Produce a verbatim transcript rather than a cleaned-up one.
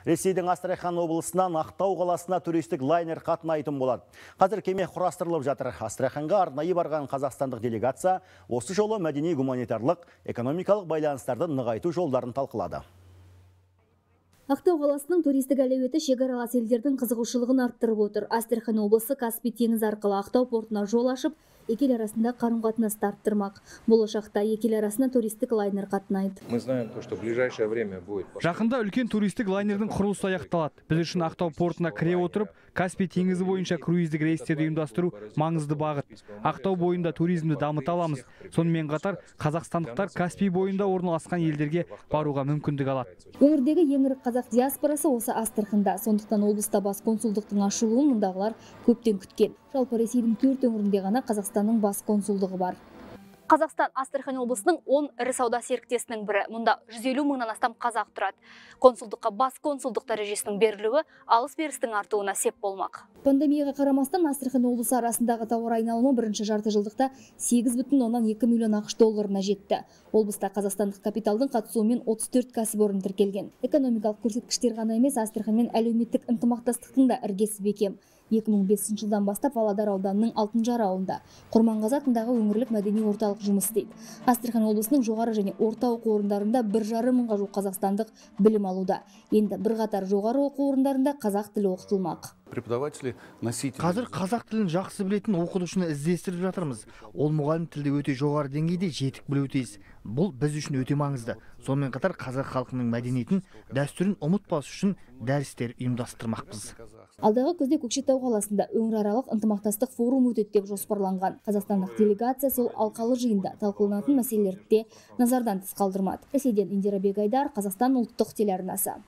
Ресейдің Астрахан облысынан Ақтау қаласына туристік лайнер қатынайтын болады. Қазір кеме құрастырылып жатыр. Астраханға арнайы барған қазақстандық делегация осы жолы мәдени-гуманитарлық, экономикалық байланыстарды нығайту жолдарын талқылады. Ақтау қаласының туристік әлеуеті шекаралас елдердің қызығушылығын арттырып отыр. Астрахан облысы Каспий теңізі арқылы Ақтау портына жол ашып, екі ел арасында қарым-қатынасты арттырмақ. Болашақта екі ел арасына туристік лайнер қатынайды. Мы знаем то, что в ближайшее время будет. Жақында үлкен туристік лайнердің құрылысы аяқталады. Біз үшін Ақтау портына кіре отырып, Каспий теңізі бойынша круиздік рейстерді ұйымдастыру маңызды бағыт. Ақтау бойында туризмді дамыта аламыз. Сонымен қатар қазақстандықтар Каспий бойында орналасқан елдерге баруға мүмкіндік алады. Өңірдегі ең ірі қазақ диаспорасы осы Астраханда. Сондықтан облыста бас консулдықтың ашылуын мұндағылар көптен күткен. Жалпы Ресейдің төрт өңірінде ғана Қазақстанның бас консулдығы бар. Қазақстан Астрахан облысының он ірі сауда серіктесінің бірі. Мұнда жүз елу мыңнан астам қазақ тұрады. Консулдыққа бас консулдық дәрежесінің берілуі алыс-берістің артуына сеп болмақ. Пандемияға қарамастан Астрахан облысы арасындағы тауар айналымы бірінші жарты жылдықта сегіз бүтін оннан екі миллион ақш долларына жетті. Облыста қазақстандық капиталдың қатысуымен отыз төрт кәсіпорын тіркелген. Экономикалық көрсеткіштер ғана емес, Астраханмен әлеуметтік ынтымақтастықтың да іргесі бекем. екі мың бесінші жылдан бастап Павлодар ауданының Алтынжар ауылында Құрманғазы атындағы өңірлік мәдени орталық жұмыс істейді. Астрахан облысының жоғары және орта оқу орындарында бір жарым мыңға жуық қазақстандық білім алуда. Енді бірқатар жоғары оқу орындарында қазақ тілі оқытылмақ. Преподаватели носители. Қазір қазақ тілін жақсы білетін оқытушыны іздестіріп жатырмыз. Ол мұғалім тілді өте жоғары деңгейде жетік білуі тиіс. Бұл біз үшін өте маңызды. Сонымен қатар қазақ халқының мәдениетін, дәстүрін ұмытпас үшін дәрістер ұйымдастырмақпыз. Алдағы күзде Көкшетау қаласында өңіраралық ынтымақтастық форум өтеді деп жоспарланған. Қазақстандық делегация сол алқалы жиында талқыланатын мәселелерді де назардан тыс қалдырмады. Ресейден Индира Бегайдар, Қазақстан ұлттық телеарнасы.